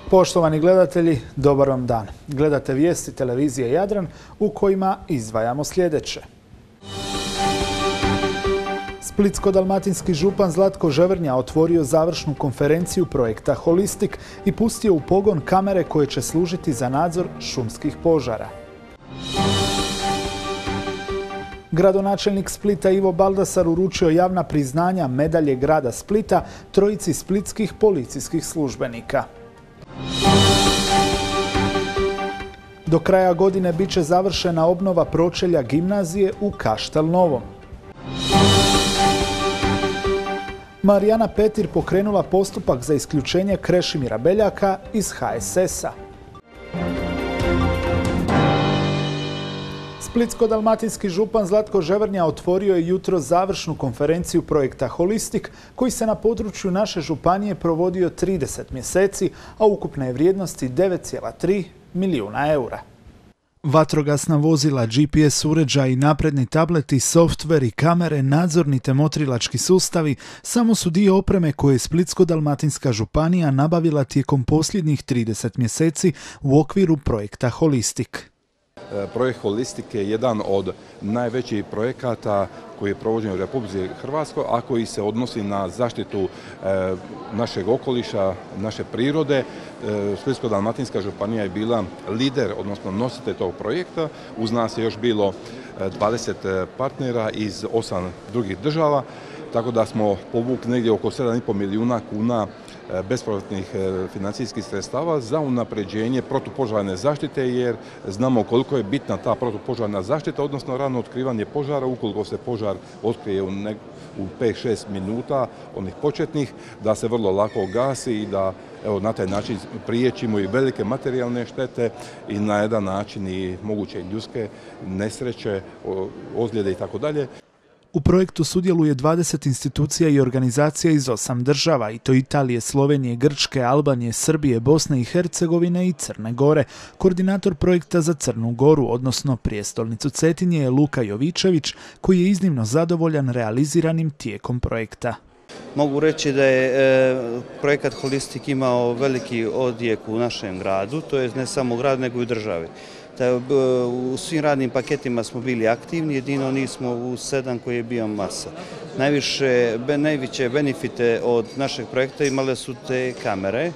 Poštovani gledatelji, dobar vam dan. Gledate vijesti televizije Jadran u kojima izdvajamo sljedeće. Splitsko-dalmatinski župan Zlatko Ževrnja otvorio završnu konferenciju projekta Holistik i pustio u pogon kamere koje će služiti za nadzor šumskih požara. Gradonačelnik Splita Ivo Baldasar uručio javna priznanja medalje grada Splita trojici splitskih policijskih službenika. Do kraja godine bit će završena obnova pročelja gimnazije u Kaštel Novom. Marijana Petir pokrenula postupak za isključenje Krešimira Beljaka iz HSS-a. Splitsko-dalmatinski župan Zlatko Ževrnja otvorio je jutro završnu konferenciju projekta Holistik koji se na području naše županije provodio 30 mjeseci, a ukupne je vrijednosti 9,3 milijuna eura. Vatrogasna vozila, GPS uređaji, napredni tableti, software i kamere, nadzorni te motrilački sustavi samo su dio opreme koje je Splitsko-dalmatinska županija nabavila tijekom posljednjih 30 mjeseci u okviru projekta Holistik. Projekt Holistik je jedan od najvećih projekata koji je provođen u Republici Hrvatskoj, a koji se odnosi na zaštitu našeg okoliša, naše prirode. Splitsko-dalmatinska županija je bila lider, odnosno nositelj tog projekta. Uz nas je još bilo 20 partnera iz 8 drugih država, tako da smo povukli negdje oko 7,5 milijuna kuna bespovratnih financijskih sredstava za unapređenje protupožarne zaštite, jer znamo koliko je bitna ta protupožarna zaštita, odnosno rano otkrivanje požara. Ukoliko se požar otkrije u 5-6 minuta, onih početnih, da se vrlo lako gasi i da na taj način priječimo i velike materijalne štete i na jedan način i moguće ljudske nesreće, ozljede itd. U projektu sudjeluje 20 institucija i organizacija iz 8 država, i to Italije, Slovenije, Grčke, Albanije, Srbije, Bosne i Hercegovine i Crne Gore. Koordinator projekta za Crnu Goru, odnosno prijestolnicu Cetinje, je Luka Jovičević, koji je iznimno zadovoljan realiziranim tijekom projekta. Mogu reći da je projekat Holistik imao veliki odjek u našem gradu, to je ne samo u gradu nego i u državi. U svim radnim paketima smo bili aktivni, jedino nismo u 7 koji je bio masa. Najveće benefite od našeg projekta imale su te kamere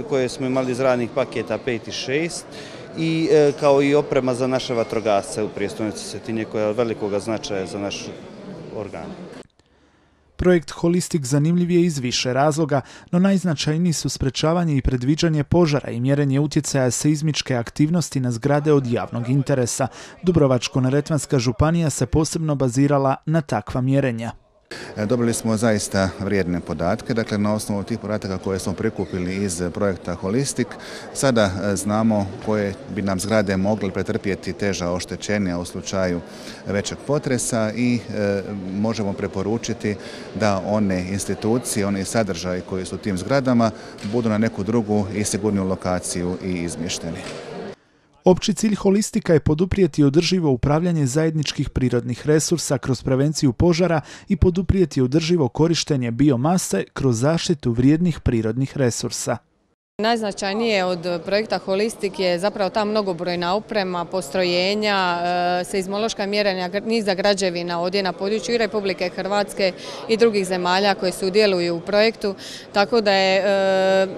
koje smo imali iz radnih paketa 5 i 6 i kao i oprema za naše vatrogasce u prijestolnici Cetinje koja je od velikog značaja za naš organ. Projekt Holistik zanimljiv je iz više razloga, no najznačajniji su sprečavanje i predviđanje požara i mjerenje utjecaja seizmičke aktivnosti na zgrade od javnog interesa. Dubrovačko-neretvanska županija se posebno bazirala na takva mjerenja. Dobili smo zaista vrijedne podatke, dakle na osnovu tih podataka koje smo prikupili iz projekta Holistik, sada znamo koje bi nam zgrade mogle pretrpjeti teža oštećenja u slučaju većeg potresa i možemo preporučiti da one institucije, oni sadržaji koji su u tim zgradama budu na neku drugu i sigurniju lokaciju i izmješteni. Opći cilj Holistika je poduprijeti održivo upravljanje zajedničkih prirodnih resursa kroz prevenciju požara i poduprijeti održivo korištenje biomase kroz zaštitu vrijednih prirodnih resursa. Najznačajnije od projekta Holistik je zapravo ta mnogobrojna oprema, postrojenja, seizmološka mjerenja niza građevina ovdje na području i Republike Hrvatske i drugih zemalja koje sudjeluju u projektu. Tako da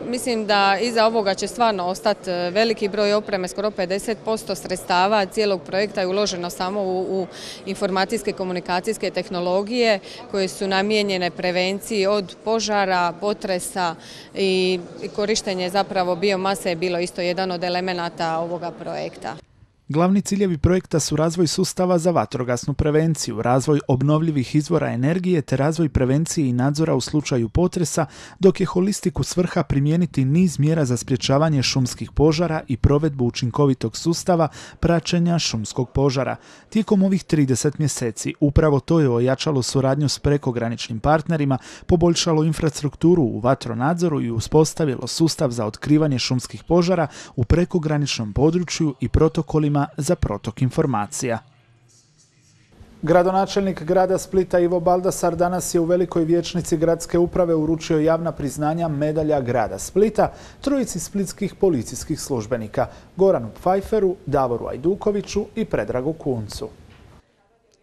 mislim da iza ovoga će stvarno ostati veliki broj opreme, skoro 50% sredstava cijelog projekta je uloženo samo u informacijske komunikacijske tehnologije koje su namijenjene prevenciji od požara, potresa i korištenje zapravo biomase je bilo isto jedan od elemenata ovoga projekta. Glavni ciljevi projekta su razvoj sustava za vatrogasnu prevenciju, razvoj obnovljivih izvora energije te razvoj prevencije i nadzora u slučaju potresa, dok je Holistiku svrha primijeniti niz mjera za sprječavanje šumskih požara i provedbu učinkovitog sustava praćenja šumskog požara. Tijekom ovih 30 mjeseci upravo to je ojačalo suradnju s prekograničnim partnerima, poboljšalo infrastrukturu u vatronadzoru i uspostavilo sustav za otkrivanje šumskih požara u prekograničnom području i protokolima za protok informacija. Gradonačelnik grada Splita Ivo Baldasar danas je u velikoj vijećnici gradske uprave uručio javna priznanja medalja grada Splita trojici splitskih policijskih službenika Goranu Pfajferu, Davoru Ajdukoviću i Predragu Kuncu.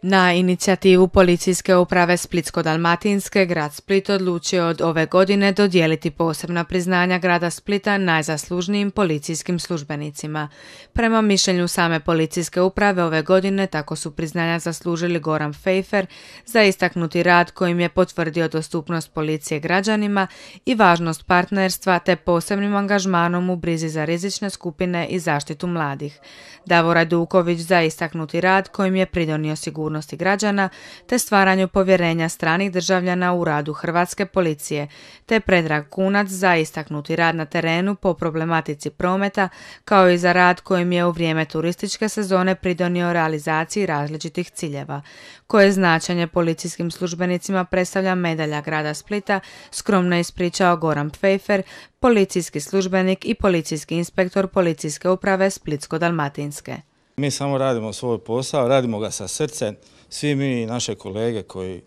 Na inicijativu policijske uprave Splitsko-dalmatinske, grad Split odlučio od ove godine dodijeliti posebna priznanja grada Splita najzaslužnijim policijskim službenicima. Prema mišljenju same policijske uprave ove godine tako su priznanja zaslužili Goran Pfajfer za istaknuti rad kojim je potvrdio dostupnost policije građanima i važnost partnerstva te posebnim angažmanom u brizi za rizične skupine i zaštitu mladih. Davor Ajduković za istaknuti rad kojim je pridonio sigurnosti građana te stvaranju povjerenja stranih državljana u radu hrvatske policije, te Predrag Kunac za istaknuti rad na terenu po problematici prometa, kao i za rad kojim je u vrijeme turističke sezone pridonio realizaciji različitih ciljeva. Koje značenje policijskim službenicima predstavlja medalja grada Splita, skromno ispričao Goran Pfajfer, policijski službenik i policijski inspektor policijske uprave Splitsko-dalmatinske. Mi samo radimo svoj posao, radimo ga sa srcem. Svi mi i naše kolege koji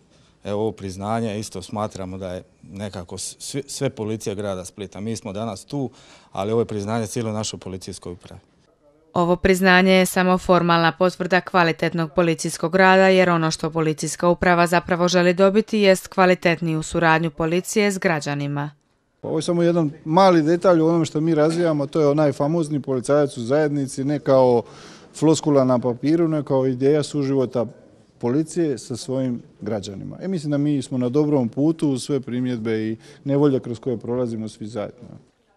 ovo priznanje isto smatramo da je nekako sve policija grada Splita. Mi smo danas tu, ali ovo je priznanje cijeloj našoj policijskoj upravi. Ovo priznanje je samo formalna potvrda kvalitetnog policijskog rada, jer ono što policijska uprava zapravo želi dobiti jest kvalitetniju suradnju policije s građanima. Ovo je samo jedan mali detalj u onome što mi razvijamo, to je onaj famozni policajac u zajednici, ne kao floskula na papiru, ne kao ideja suživota policije sa svojim građanima. Mislim da mi smo na dobrom putu uz sve primjedbe i nevolje kroz koje prolazimo svi zajedno.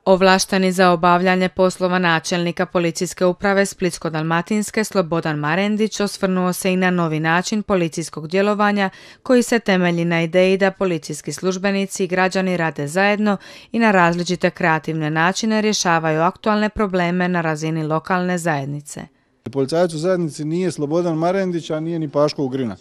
Ovlašteni za obavljanje poslova načelnika policijske uprave Splitsko-dalmatinske Slobodan Marendić osvrnuo se i na novi način policijskog djelovanja koji se temelji na ideji da policijski službenici i građani rade zajedno i na različite kreativne načine rješavaju aktualne probleme na razini lokalne zajednice. Policajac u zajednici nije Slobodan Marendić, a nije ni Paško Ugrina.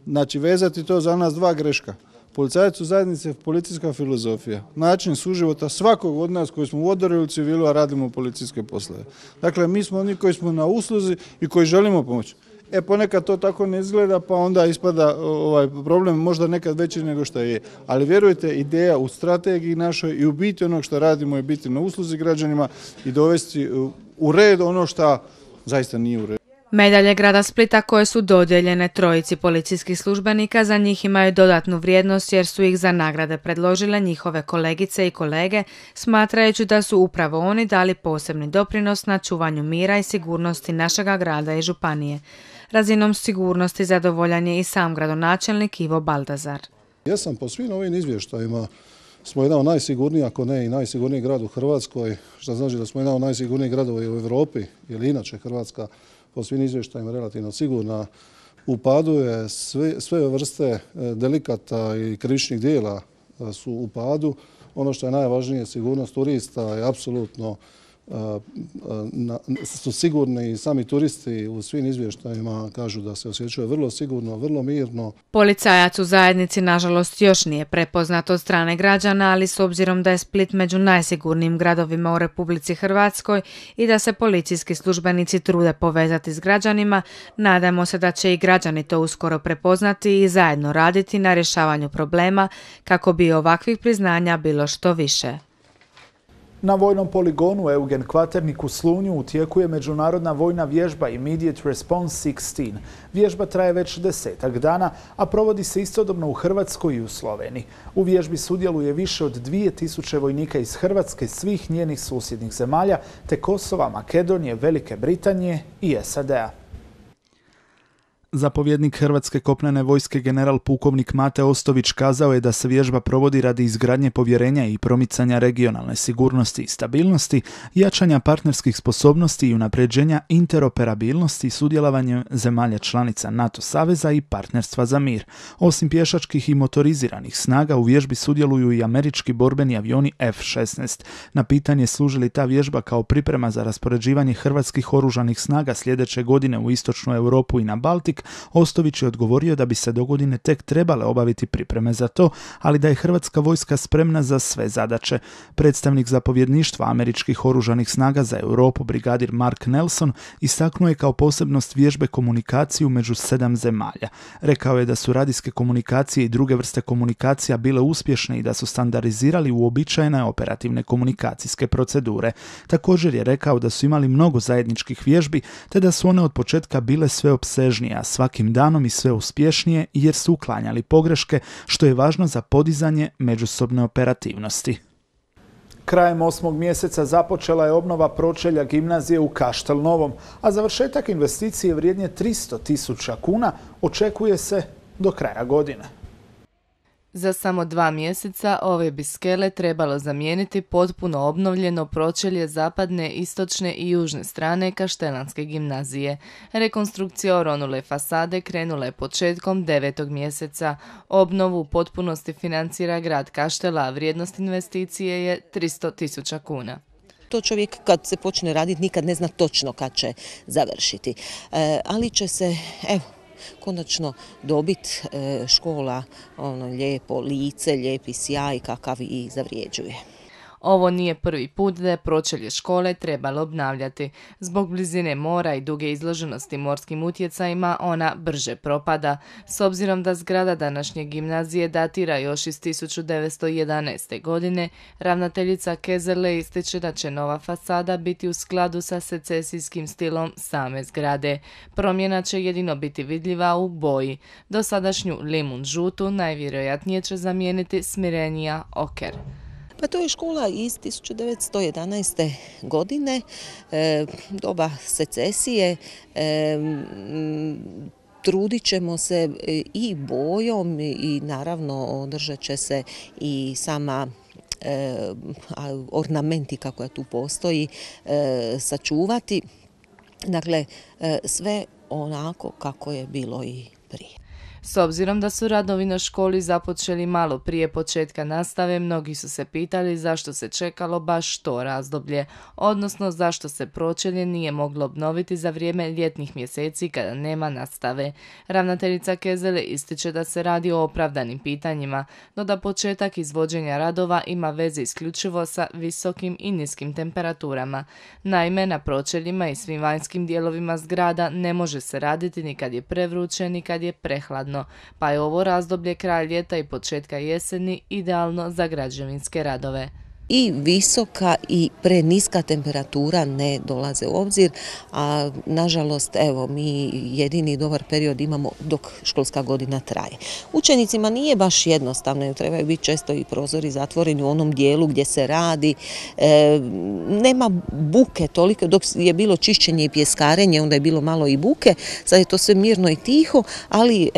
Znači, vezati to za nas dva greška. Policajac u zajednici je policijska filozofija, način suživota svakog od nas koji smo u odoru ili civilu, a radimo policijske poslove. Dakle, mi smo oni koji smo na usluzi i koji želimo pomoći. Ponekad to tako ne izgleda, pa onda ispada problem možda nekad veći nego što je. Ali vjerujte, ideja u strategiji našoj i u biti onog što radimo je biti na usluzi građanima i dovesti u red ono što zaista nije u redu. Medalje grada Splita koje su dodijeljene trojici policijskih službenika za njih imaju dodatnu vrijednost jer su ih za nagrade predložile njihove kolegice i kolege, smatrajući da su upravo oni dali posebni doprinos na čuvanju mira i sigurnosti našega grada i županije. Razinom sigurnosti zadovoljan je i sam gradonačelnik Ivo Baldasar. Jesam, po svim ovim izvještajima smo jedan od najsigurnijih, ako ne i najsigurniji grad u Hrvatskoj, što znači da smo jedan od najsigurnijih gradova i u Europi, jer inače Hrvatska po svim izvještajima relativno sigurna. U padu je sve vrste delikata i krivičnih djela su u padu. Ono što je najvažnije, sigurnost turista je apsolutno su sigurni i sami turisti u svim izvještajima kažu da se osjećaju vrlo sigurno, vrlo mirno. Policajac u zajednici nažalost još nije prepoznat od strane građana, ali s obzirom da je Split među najsigurnijim gradovima u Republici Hrvatskoj i da se policijski službenici trude povezati s građanima, nadamo se da će i građani to uskoro prepoznati i zajedno raditi na rješavanju problema kako bi ovakvih priznanja bilo što više. Na vojnom poligonu Eugen Kvaternik u Slunju u tijeku je međunarodna vojna vježba Immediate Response 16. Vježba traje već 10 dana, a provodi se istodobno u Hrvatskoj i u Sloveniji. U vježbi sudjeluje više od 2000 vojnika iz Hrvatske, svih njenih susjednih zemalja, te Kosova, Makedonije, Velike Britanije i SAD-a. Zapovjednik Hrvatske kopnene vojske general pukovnik Mate Ostović kazao je da se vježba provodi radi izgradnje povjerenja i promicanja regionalne sigurnosti i stabilnosti, jačanja partnerskih sposobnosti i unapređenja interoperabilnosti i sudjelovanjem zemalja članica NATO saveza i partnerstva za mir. Osim pješačkih i motoriziranih snaga, u vježbi sudjeluju i američki borbeni avioni F-16. Na pitanje služi li ta vježba kao priprema za raspoređivanje hrvatskih oružanih snaga sljedeće godine u istočnu Europu i na Baltik, Holistik, Ostović je odgovorio da bi se dogodine tek trebale obaviti pripreme za to, ali da je Hrvatska vojska spremna za sve zadaće. Predstavnik zapovjedništva američkih oružanih snaga za Europu, brigadir Mark Nelson, istaknuo je kao posebnost vježbe komunikaciju među 7 zemalja. Rekao je da su radijske komunikacije i druge vrste komunikacija bile uspješne i da su standardizirali uobičajene operativne komunikacijske procedure. Također je rekao da su imali mnogo zajedničkih vježbi, te da su one od početka bile sve opsežnije, a svakim danom i sve uspješnije jer su uklanjali pogreške, što je važno za podizanje međusobne operativnosti. Krajem 8. mjeseca započela je obnova pročelja gimnazije u Kaštel Novom, a završetak investicije vrijednje 300.000 kuna očekuje se do kraja godine. Za samo 2 mjeseca ove bi skele trebalo zamijeniti potpuno obnovljeno pročelje zapadne, istočne i južne strane Kaštelanske gimnazije. Rekonstrukcija oronule fasade krenula je početkom 9. mjeseca. Obnovu u potpunosti financira grad Kaštela, a vrijednost investicije je 300.000 kuna. To čovjek kad se počne raditi nikad ne zna točno kad će završiti, ali će se, konačno dobiti škola lijepo lice, lijepi sjaj kakav i zavrijeđuje. Ovo nije prvi put da je pročelje škole trebalo obnavljati. Zbog blizine mora i duge izloženosti morskim utjecajima ona brže propada. S obzirom da zgrada današnje gimnazije datira još iz 1911. godine, ravnateljica Kezerle ističe da će nova fasada biti u skladu sa secesijskim stilom same zgrade. Promjena će jedino biti vidljiva u boji. Dosadašnju limun žutu najvjerojatnije će zamijeniti smirenija oker. Pa to je škola iz 1911. godine, doba secesije. Trudit ćemo se i bojom i naravno održat će se i sama ornamenti kako je tu postoji sačuvati. Dakle, sve onako kako je bilo i prije. S obzirom da su radovi na školi započeli malo prije početka nastave, mnogi su se pitali zašto se čekalo baš to razdoblje, odnosno zašto se pročelje nije moglo obnoviti za vrijeme ljetnih mjeseci kada nema nastave. Ravnateljica Kezele ističe da se radi o opravdanim pitanjima, no da početak izvođenja radova ima veze isključivo sa visokim i niskim temperaturama. Naime, na pročeljima i svim vanjskim dijelovima zgrada ne može se raditi ni kad je prevruće, ni kad je prehladno, pa je ovo razdoblje kraj ljeta i početka jeseni idealno za građevinske radove. I visoka i preniska temperatura ne dolaze u obzir, a nažalost mi jedini dobar period imamo dok školska godina traje. Učenicima nije baš jednostavno, trebaju biti često i prozori zatvoreni u onom dijelu gdje se radi. Nema buke toliko, dok je bilo čišćenje i pjeskarenje, onda je bilo malo i buke, sad je to sve mirno i tiho, ali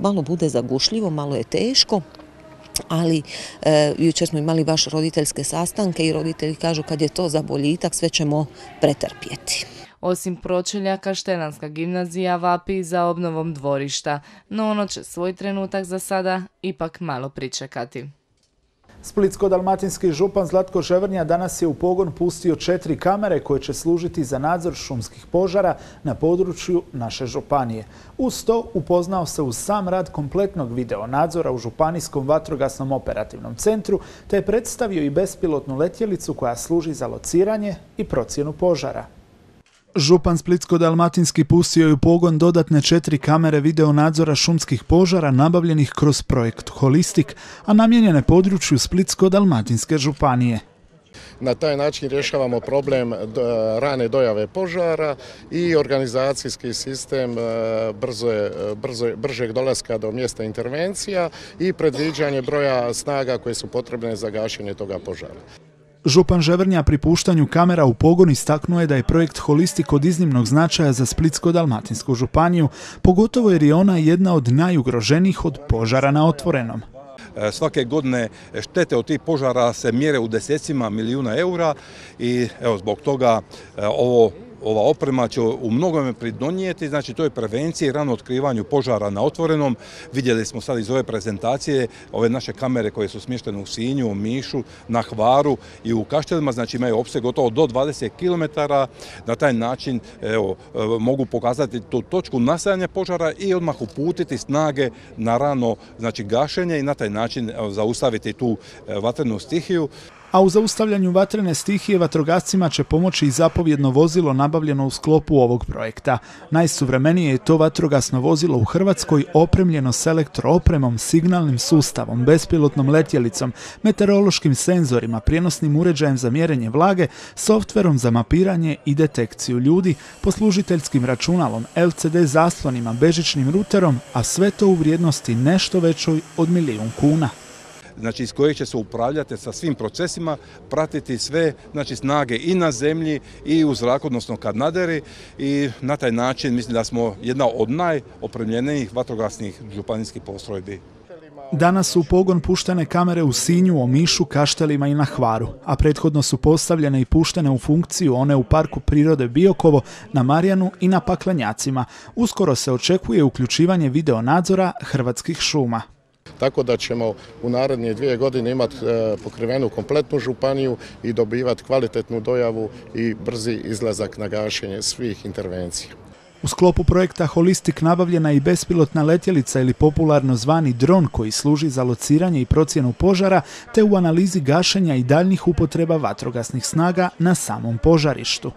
malo bude zagušljivo, malo je teško. Ali jučer smo imali baš roditeljske sastanke i roditelji kažu kad je to za boljitak sve ćemo pretrpjeti. Osim pročelja, Kaštelanska gimnazija vapi za obnovom dvorišta, no ono će svoj trenutak za sada ipak malo pričekati. Splitsko-dalmatinski župan Zlatko Ževrnja danas je u pogon pustio 4 kamere koje će služiti za nadzor šumskih požara na području naše županije. Uz to upoznao se uz sam rad kompletnog video nadzora u Županijskom vatrogasnom operativnom centru, te je predstavio i bespilotnu letjelicu koja služi za lociranje i procjenu požara. Župan Splitsko-dalmatinski pustio je u pogon dodatne 4 kamere video nadzora šumskih požara nabavljenih kroz projekt Holistik, a namijenjene području Splitsko-dalmatinske županije. Na taj način rješavamo problem rane dojave požara i organizacijski sistem bržeg dolaska do mjesta intervencija i predviđanje broja snaga koje su potrebne za gašenje toga požara. Župan Ževrnja pri puštanju kamera u pogon istaknuo je da je projekt Holistik od iznimnog značaja za Splitsko-dalmatinsku županiju, pogotovo jer je ona jedna od najugroženijih od požara na otvorenom. Svake godine štete od tih požara se mjere u desecima milijuna eura i zbog toga ovo ova oprema će u mnogome pridonijeti, znači to je prevencija i rano otkrivanju požara na otvorenom. Vidjeli smo sad iz ove prezentacije ove naše kamere koje su smještene u Sinju, u Mišu, na Hvaru i u Kaštelima, znači imaju opseg gotovo do 20 km. Na taj način mogu pokazati tu točku nastajanja požara i odmah uputiti snage na rano gašenje i na taj način zaustaviti tu vatrenu stihiju. A u zaustavljanju vatrene stihije vatrogascima će pomoći i zapovjedno vozilo nabavljeno u sklopu ovog projekta. Najsuvremenije je to vatrogasno vozilo u Hrvatskoj, opremljeno s elektroopremom, signalnim sustavom, bespilotnom letjelicom, meteorološkim senzorima, prijenosnim uređajem za mjerenje vlage, softverom za mapiranje i detekciju ljudi, poslužiteljskim računalom, LCD zaslonima, bežičnim ruterom, a sve to u vrijednosti nešto većoj od 1 milijun kuna. Znači iz kojeg će se upravljati sa svim procesima, pratiti sve snage i na zemlji i u zraku, odnosno kad naderi, i na taj način mislim da smo jedna od najopremljenijih vatrogasnih županijskih postrojbi. Danas su u pogon puštene kamere u Sinju, Omišu, Kaštelima i na Hvaru, a prethodno su postavljene i puštene u funkciju one u Parku prirode Biokovo, na Marjanu i na Paklenjacima. Uskoro se očekuje uključivanje video nadzora Hrvatskih šuma. Tako da ćemo u naredne 2 godine imati pokrivenu kompletnu županiju i dobivati kvalitetnu dojavu i brzi izlazak na gašenje svih intervencija. U sklopu projekta Holistik nabavljena je i bespilotna letjelica ili popularno zvani dron koji služi za lociranje i procjenu požara te u analizi gašenja i daljnjih upotreba vatrogasnih snaga na samom požarištu.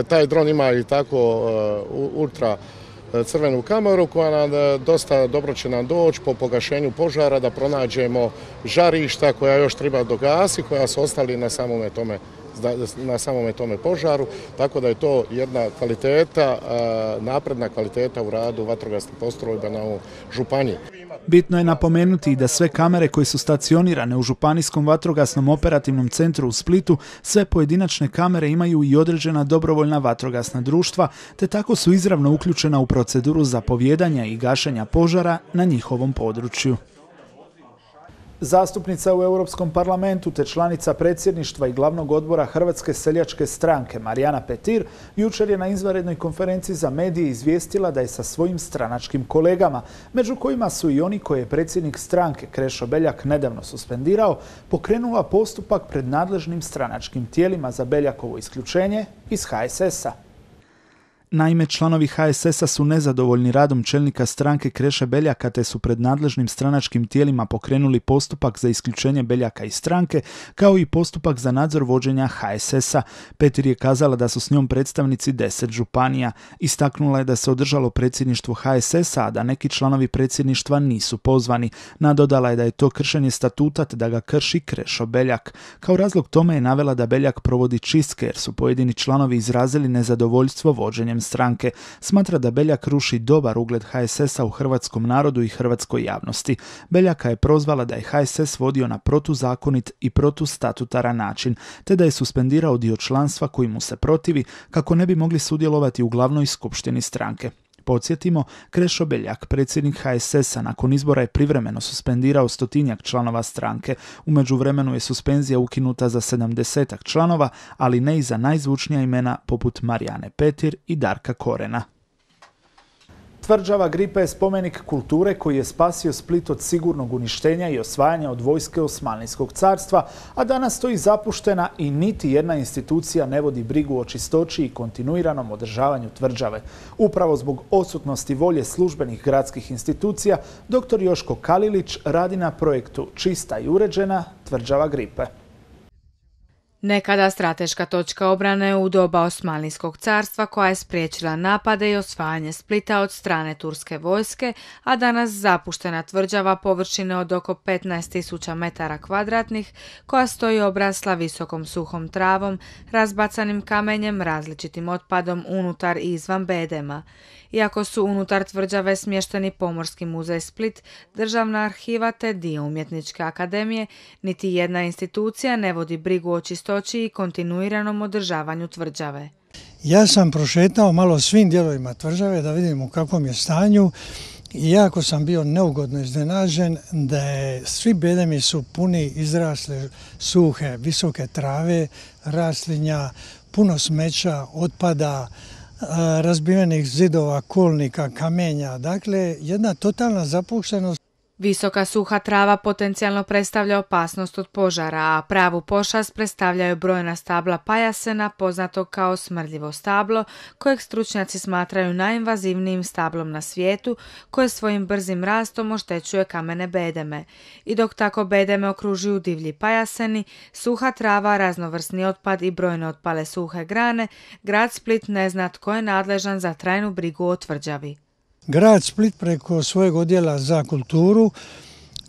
Taj dron ima i tako ultra crvenu kameru koja nam dosta dobro će nam doći po pogašenju požara da pronađemo žarišta koja još treba dogasiti, koja su ostali na samome tome požaru, tako da je to jedna kvaliteta, napredna kvaliteta u radu vatrogasnih postrojba na ovoj županiji. Bitno je napomenuti da sve kamere koje su stacionirane u Županijskom vatrogasnom operativnom centru u Splitu, sve pojedinačne kamere imaju i određena dobrovoljna vatrogasna društva, te tako su izravno uključena u proceduru zapovijedanja i gašenja požara na njihovom području. Zastupnica u Europskom parlamentu te članica predsjedništva i glavnog odbora Hrvatske seljačke stranke Marijana Petir jučer je na izvanrednoj konferenciji za medije izvijestila da je sa svojim stranačkim kolegama, među kojima su i oni koje je predsjednik stranke Krešo Beljak nedavno suspendirao, pokrenula postupak pred nadležnim stranačkim tijelima za Beljakovo isključenje iz HSS-a. Naime, članovi HSS-a su nezadovoljni radom čelnika stranke Kreše Beljaka te su pred nadležnim stranačkim tijelima pokrenuli postupak za isključenje Beljaka iz stranke, kao i postupak za nadzor vođenja HSS-a. Petir je kazala da su s njom predstavnici 10 županija. Istaknula je da se održalo predsjedništvo HSS-a, a da neki članovi predsjedništva nisu pozvani. Nadodala je da je to kršenje statuta te da ga krši Krešo Beljak. Kao razlog tome je navela da Beljak provodi čistke jer su pojedini članovi izrazili nezadovoljstvo vođenjem stranke. Smatra da Beljak ruši dobar ugled HSS-a u hrvatskom narodu i hrvatskoj javnosti. Beljaka je prozvala da je HSS vodio na protuzakonit i protustatutaran način, te da je suspendirao dio članstva koji mu se protivi kako ne bi mogli sudjelovati u glavnoj skupštini stranke. Podsjetimo, Krešo Beljak, predsjednik HSS-a, nakon izbora je privremeno suspendirao 100-tinjak članova stranke. U međuvremenu je suspenzija ukinuta za 70-ak članova, ali ne i za najzvučnija imena poput Marijane Petir i Darka Korena. Tvrđava Gripe je spomenik kulture koji je spasio Split od sigurnog uništenja i osvajanja od vojske Osmanlijskog carstva, a danas stoji zapuštena i niti jedna institucija ne vodi brigu o čistoći i kontinuiranom održavanju tvrđave. Upravo zbog odsutnosti volje službenih gradskih institucija, dr. Joško Kalilić radi na projektu Čista i uređena tvrđava Gripe. Nekada strateška točka obrane u doba Osmanlijskog carstva koja je spriječila napade i osvajanje Splita od strane turske vojske, a danas zapuštena tvrđava površine od oko 15.000 metara kvadratnih koja stoji obrasla visokom suhom travom, razbacanim kamenjem, različitim otpadom unutar i izvan bedema. Iako su unutar tvrđave smješteni Pomorski muzej Split, Državna arhiva te dio Umjetničke akademije, niti jedna institucija ne vodi brigu o čistoći i kontinuiranom održavanju tvrđave. Ja sam prošetao malo svim dijelovima tvrđave da vidim u kakvom je stanju I jako sam bio neugodno iznenađen da svi bedemi su puni izrasle suhe, visoke trave, raslinja, puno smeća, otpada, razbijenih zidova, kolnika, kamenja. Dakle, jedna totalna zapuštenost. Visoka suha trava potencijalno predstavlja opasnost od požara, a pravu pošast predstavljaju brojna stabla pajasena, poznatog kao smrdljivo stablo, kojeg stručnjaci smatraju najinvazivnijim stablom na svijetu, koje svojim brzim rastom oštećuje kamene bedeme. I dok tako bedeme okružuju divlji pajaseni, suha trava, raznovrsni otpad i brojne otpale suhe grane, grad Split ne zna tko je nadležan za trajnu brigu o tvrđavi. Grad Split preko svojeg odjela za kulturu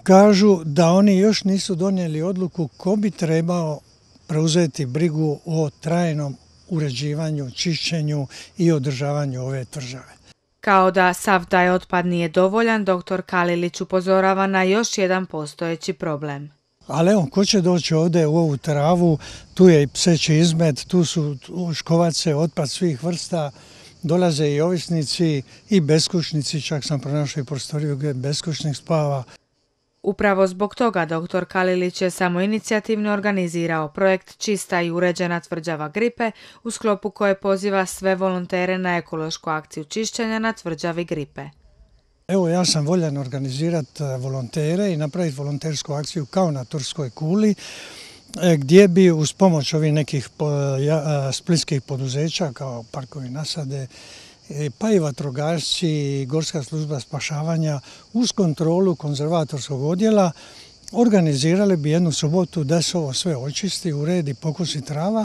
kažu da oni još nisu donijeli odluku ko bi trebao preuzeti brigu o trajnom uređivanju, čišćenju i održavanju ove tvrđave. Kao da sav taj otpad nije dovoljan, dr. Kalilić upozorava na još jedan postojeći problem. Ali evo, ko će doći ovdje u ovu travu, tu je i pseći izmet, tu su škovace, otpad svih vrsta, dolaze i ovisnici i beskućnici, čak sam pronašao i prostoriju gdje beskućnik spava. Upravo zbog toga dr. Kalilić je samoinicijativno organizirao projekt Čista i uređena tvrđava Gripe, u sklopu koje poziva sve volontere na ekološku akciju čišćenja na tvrđavi Gripe. Evo, ja sam voljan organizirati volontere i napraviti volontersku akciju kao na Turskoj kuli, gdje bi uz pomoć ovih nekih splitskih poduzeća kao Parkovi nasade, pa i vatrogasci i Gorska služba spašavanja uz kontrolu konzervatorskog odjela organizirali bi jednu subotu da se ovo sve očisti, uredi, pokosi trava.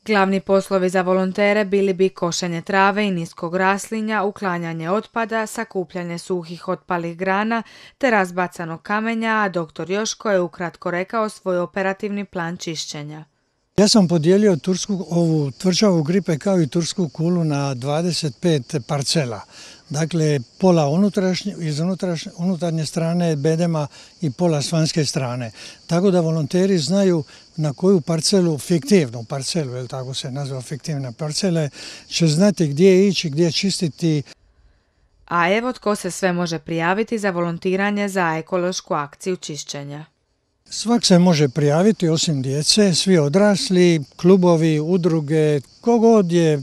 Glavni poslovi za volontere bili bi košenje trave i niskog raslinja, uklanjanje otpada, sakupljanje suhih otpalih grana te razbacanog kamenja, a dr. Joško je ukratko rekao svoj operativni plan čišćenja. Ja sam podijelio ovu tvrđavu Gripe kao i Tursku kulu na 25 parcela. Dakle, pola iz unutarnje strane bedema i pola s vanjske strane. Tako da volonteri znaju na koju parcelu, fiktivnu parcelu, jer tako se naziva fiktivne parcele, će znati gdje ići, gdje čistiti. A evo tko se sve može prijaviti za volontiranje za ekološku akciju čišćenja. Svak se može prijaviti osim djece, svi odrasli, klubovi, udruge, kogod je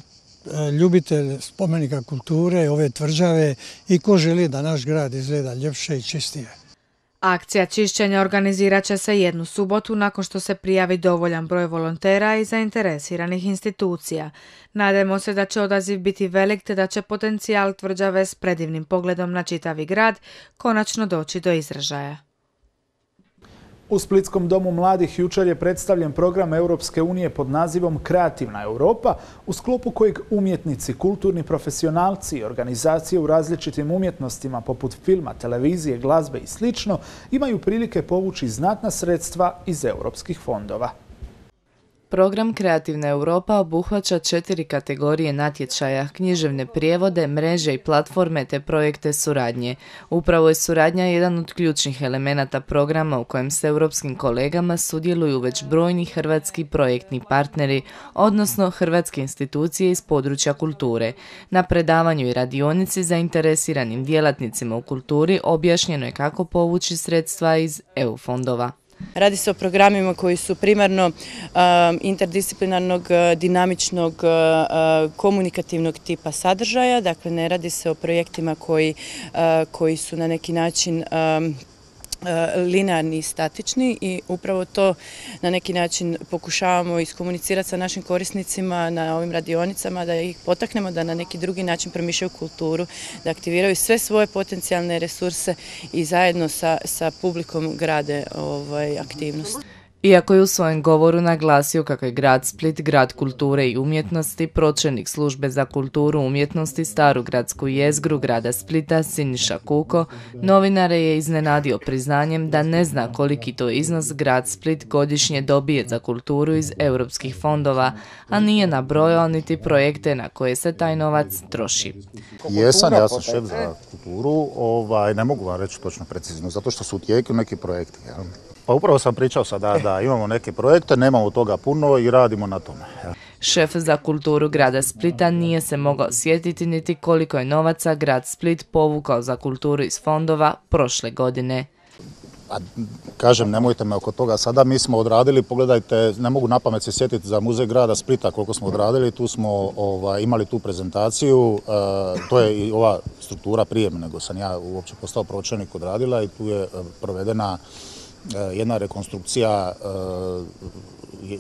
ljubitelj spomenika kulture, ove tvrđave i ko želi da naš grad izgleda ljepše i čistije. Akcija čišćenja organizirat će se jednu subotu nakon što se prijavi dovoljan broj volontera i zainteresiranih institucija. Nadajmo se da će odaziv biti velik te da će potencijal tvrđave s predivnim pogledom na čitavi grad konačno doći do izražaja. U Splitskom domu mladih jučer je predstavljen program Europske unije pod nazivom Kreativna Europa, u sklopu kojeg umjetnici, kulturni profesionalci i organizacije u različitim umjetnostima poput filma, televizije, glazbe i sl. Imaju prilike povući znatna sredstva iz europskih fondova. Program Kreativna Europa obuhvaća 4 kategorije natječaja, književne prijevode, mreže i platforme te projekte suradnje. Upravo je suradnja jedan od ključnih elemenata programa u kojem s europskim kolegama sudjeluju već brojni hrvatski projektni partneri, odnosno hrvatske institucije iz područja kulture. Na predavanju i radionici zainteresiranim djelatnicima u kulturi objašnjeno je kako povući sredstva iz EU fondova. Radi se o programima koji su primarno interdisciplinarnog, dinamičnog, komunikativnog tipa sadržaja. Dakle, ne radi se o projektima koji su na neki način linearni i statični i upravo to na neki način pokušavamo iskomunicirati sa našim korisnicima na ovim radionicama, da ih potaknemo da na neki drugi način promišljaju kulturu, da aktiviraju sve svoje potencijalne resurse i zajedno sa publikom grade aktivnosti. Iako je u svojem govoru naglasio kako je grad Split grad kulture i umjetnosti, pročelnik službe za kulturu umjetnosti Staru gradsku jezgru grada Splita Siniša Kuko, novinare je iznenadio priznanjem da ne zna koliki to iznos grad Split godišnje dobije za kulturu iz europskih fondova, a nije nabrojao niti projekte na koje se taj novac troši. Ja sam šef za kulturu, ne mogu vam reći točno precizno, zato što su u tijeku neki projekti. Pa upravo sam pričao sada da imamo neke projekte, nemamo toga puno i radimo na tome. Šef za kulturu grada Splita nije se mogao sjetiti niti koliko je novaca grad Split povukao za kulturu iz fondova prošle godine. Kažem, nemojte me oko toga. Sada mi smo odradili, pogledajte, ne mogu napamet se sjetiti za muzej grada Splita koliko smo odradili, tu smo imali tu prezentaciju, to je i ova struktura prije nego sam ja uopće postao pročelnik odradila i tu je provedena jedna rekonstrukcija,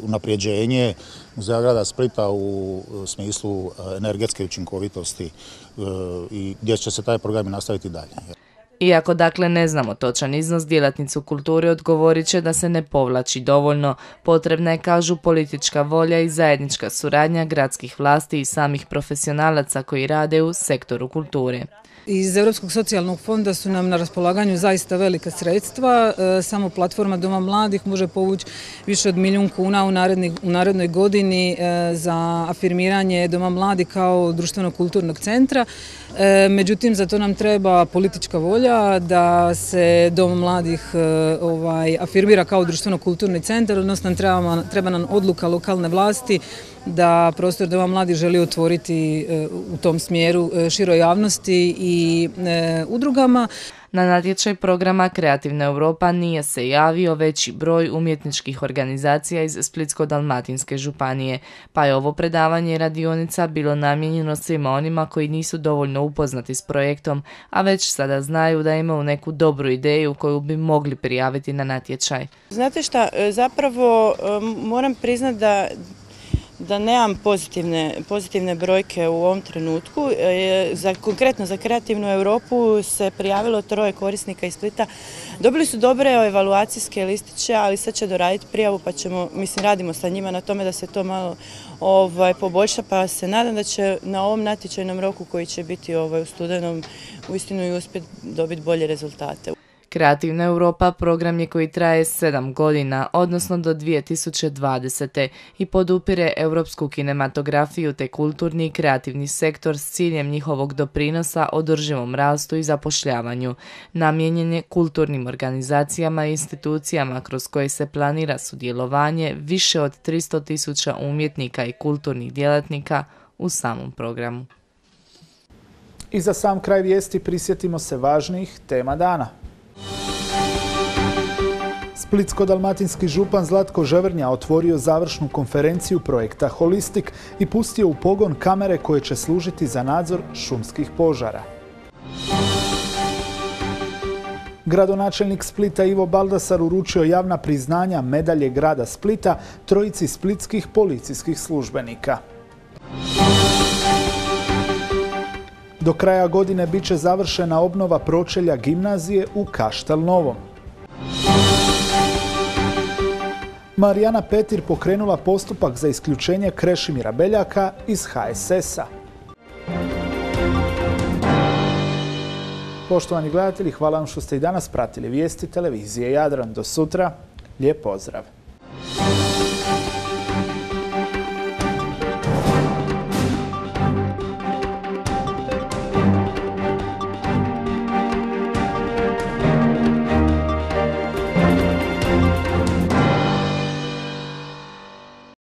unaprijeđenje muzeja grada Splita u smislu energetske učinkovitosti i gdje će se taj program nastaviti dalje. Iako dakle ne znamo točan iznos, djelatnici u kulturi odgovorit će da se ne povlači dovoljno. Potrebna je, kažu, politička volja i zajednička suradnja gradskih vlasti i samih profesionalaca koji rade u sektoru kulture. Iz Europskog socijalnog fonda su nam na raspolaganju zaista velika sredstva. Samo platforma Doma mladih može povući više od 1 milijun kuna u narednoj godini za afirmiranje Doma mladih kao društveno-kulturnog centra. Međutim, za to nam treba politička volja da se Dom mladih afirmira kao društveno-kulturni centar, odnosno treba nam odluka lokalne vlasti da prostor Doma mladih želi otvoriti u tom smjeru široj javnosti i udrugama. Na natječaj programa Kreativna Europa nije se javio veći broj umjetničkih organizacija iz Splitsko-dalmatinske županije, pa je ovo predavanje radionica bilo namijenjeno svima onima koji nisu dovoljno upoznati s projektom, a već sada znaju da imaju neku dobru ideju koju bi mogli prijaviti na natječaj. Znate šta, zapravo moram priznati da nemam pozitivne brojke u ovom trenutku. Konkretno za Kreativnu Europu se prijavilo 3 korisnika iz Splita. Dobili su dobre evaluacijske listiće, ali sad će doraditi prijavu pa ćemo, radimo sa njima na tome da se to malo poboljša, pa se nadam da će na ovom natječajnom roku koji će biti u studenom uistinu i uspjeti dobiti bolje rezultate. Kreativna Europa program je koji traje 7 godina, odnosno do 2020. i podupire europsku kinematografiju te kulturni i kreativni sektor s ciljem njihovog doprinosa održivom rastu i zapošljavanju. Namijenjen je kulturnim organizacijama i institucijama kroz koje se planira sudjelovanje više od 300.000 umjetnika i kulturnih djelatnika u samom programu. I za sam kraj vijesti prisjetimo se važnijih tema dana. Splitsko-dalmatinski župan Zlatko Ževrnja otvorio završnu konferenciju projekta Holistik i pustio u pogon kamere koje će služiti za nadzor šumskih požara. Gradonačelnik Splita Ivo Baldasar uručio javna priznanja medalje grada Splita 3 splitskih policijskih službenika. Do kraja godine bit će završena obnova pročelja gimnazije u Kaštel Novom. Marijana Petir pokrenula postupak za isključenje Krešimira Beljaka iz HSS-a. Poštovani gledatelji, hvala vam što ste i danas pratili vijesti televizije Jadran. Do sutra, lijep pozdrav!